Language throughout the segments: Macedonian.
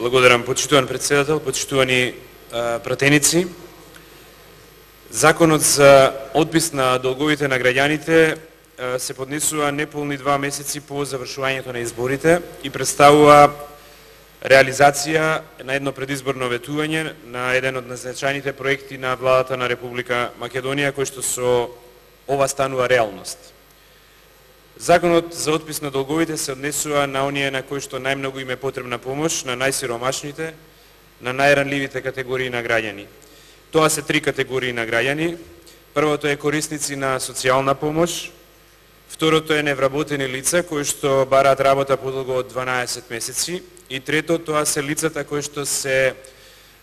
Благодарам, почитуван председател, почитувани пратеници. Законот за отпис на долговите на граѓаните се поднесува неполни 2 месеци по завршувањето на изборите и представува реализација на едно предизборно ветување на еден од најзначајните проекти на владата на Република Македонија, кој што со ова станува реалност. Законот за отпис на долговите се однесува на оние на кои што најмногу им е потребна помош, на најсиромашните, на најранливите категории на граѓани. Тоа се 3 категории на граѓани. Првото е корисници на социјална помош, второто е невработени лица кои што бараат работа подолго од 12 месеци и трето тоа се лицата кои што се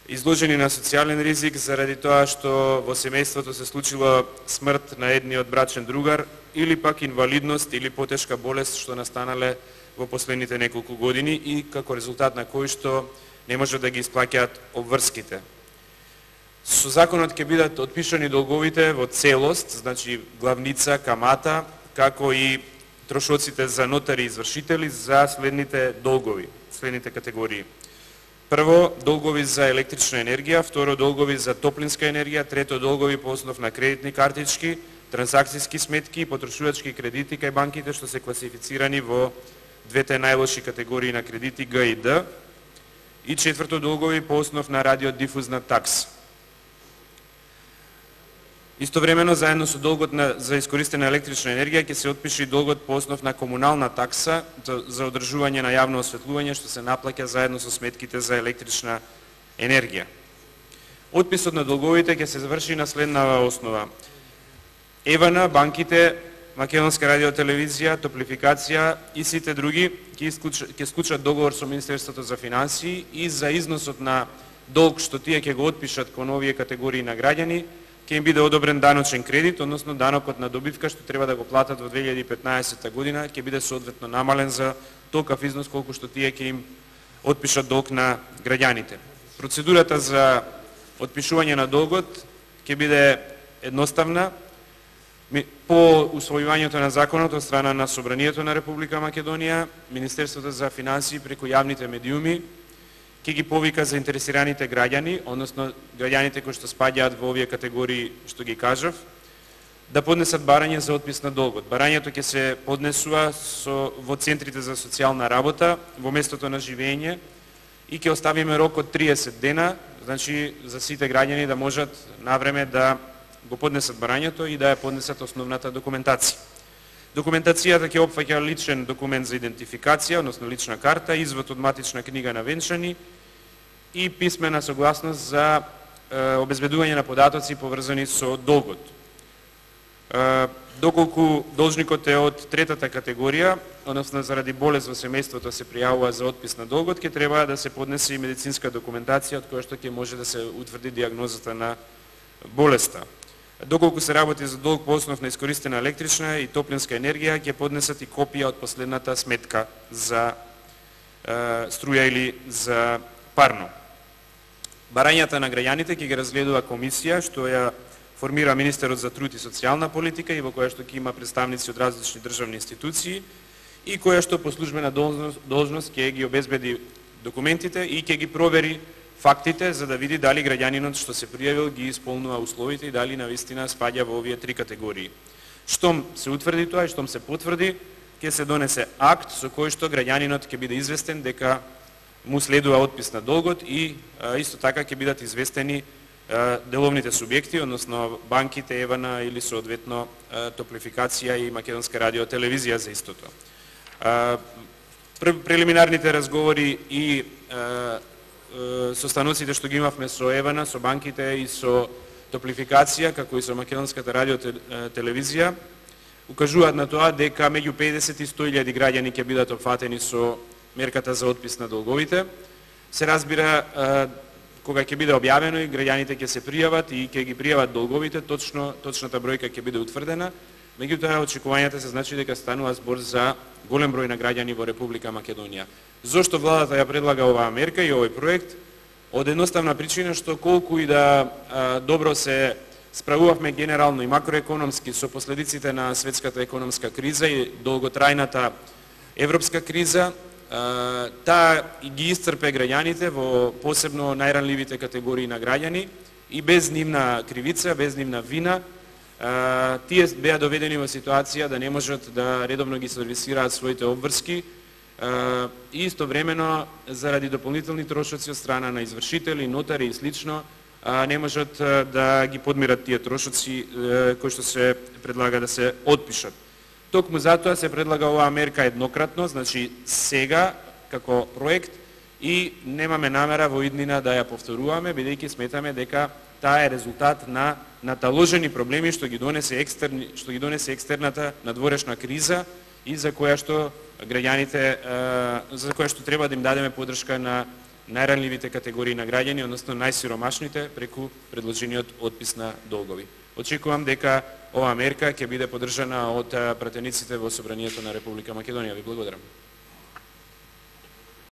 изложени на социјален ризик заради тоа што во семејството се случила смрт на едниот брачен другар или пак инвалидност или потешка болест што настанале во последните неколку години и како резултат на кои што не можат да ги исплаќаат обврските. Со законот ќе бидат отпишани долговите во целост, значи главница, камата, како и трошоците за нотари и извршители за следните долгови, следните категории. Прво, долгови за електрична енергија, второ, долгови за топлинска енергија, трето, долгови по основ на кредитни картички, трансакцијски сметки и потрошувачки кредити кај банките што се класифицирани во двете најлоши категории на кредити Г и Д. И четврто, долгови по основ на радиодифузна такса. Истовремено, заедно со долгот за искористена електрична енергија, ќе се отпише и долгот по основ на комунална такса за одржување на јавно осветлување, што се наплаќа заедно со сметките за електрична енергија. Отписот на долговите ќе се заврши на следнава основа. ЕВН, банките, Македонска радиотелевизија, Топлификација и сите други ќе склучат договор со Министерството за финансии и за износот на долг што тие ќе го отпишат кон овие категории на граѓани, ќе им биде одобрен даночен кредит, односно данокот на добивка што треба да го платат во 2015 година, ќе биде соодветно намален за толков износ колку што тие ќе им отпишат долг на граѓаните. Процедурата за отпишување на долгот ќе биде едноставна. По усвојувањето на законот од страна на Собранието на Република Македонија, Министерството за финансии преку јавните медиуми ќе ги повика заинтересираните граѓани, односно граѓаните кои што спаѓаат во овие категории што ги кажав, да поднесат барање за отпис на долгот. Барањето ќе се поднесува во центрите за социјална работа, во местото на живење и ќе оставиме рок од 30 дена, значи за сите граѓани да можат навреме да го поднесат барањето и да ја поднесат основната документација. Документацијата ќе опфаќа личен документ за идентификација, односно лична карта, извод од матична книга на венчани и писмена согласност за обезбедување на податоци поврзани со долгот. Доколку должникот е од третата категорија, односно заради болест во семејството се пријавува за отпис на долгот, ќе треба да се поднесе и медицинска документација од која што ќе може да се утврди дијагнозата на болеста. Доколку се работи за долг по основ на искористена електрична и топлинска енергија, ќе поднесат и копија од последната сметка за струја или за парно. Барањата на граѓаните ќе ги разгледува комисија што ја формира Министерот за труд и социјална политика и во која што ќе има представници од различни државни институции и која што по службена должност ќе ги обезбеди документите и ќе ги провери фактите за да види дали граѓанинот што се пријавил ги исполнува условите и дали навистина спаѓа во овие 3 категории. Штом се утврди тоа и штом се потврди, ќе се донесе акт со кој што граѓанинот ќе биде известен дека му следува отпис на долгот и исто така ќе бидат известени деловните субјекти, односно банките, ЕВН или соодветно Топлификација и Македонска радиотелевизија за истото. Прелиминарните разговори и состаноците што ги имавме со ЕВН, со банките и со Топлификација, како и со Македонската радиотелевизија, укажуваат на тоа дека меѓу 50 и 100.000 граѓани ќе бидат опфатени со мерката за отпис на долговите. Се разбира, кога ќе биде објавено и граѓаните ќе се пријават и ќе ги пријават долговите, точната бројка ќе биде утврдена. Меѓутоа, очекувањата се значи дека станува збор за голем број на граѓани во Република Македонија. Зошто владата ја предлага оваа мерка и овој проект? Од едноставна причина што колку и да добро се справувавме генерално и макроекономски со последиците на светската економска криза и долготрајната европска криза, таа ги исцрпе граѓаните во посебно најранливите категории на граѓани и без нивна кривица, без нивна вина, тие беа доведени во ситуација да не можат да редовно ги сервисираат своите обврски и истовремено заради дополнителни трошоци од страна на извршители, нотари и слично не можат да ги подмират тие трошоци кои што се предлага да се отпишат. Токму затоа се предлага оваа мерка еднократно, значи сега како проект и немаме намера во иднина да ја повторуваме, бидејќи сметаме дека таа е резултат на наталожени проблеми што ги донесе екстерната надворешна криза и за која што граѓаните за која што треба да им дадеме поддршка на најранливите категории на граѓани, односно најсиромашните преку предложениот отпис на долгови. Очекувам дека оваа мерка ќе биде поддржана од пратениците во Собранието на Република Македонија. Ви благодарам.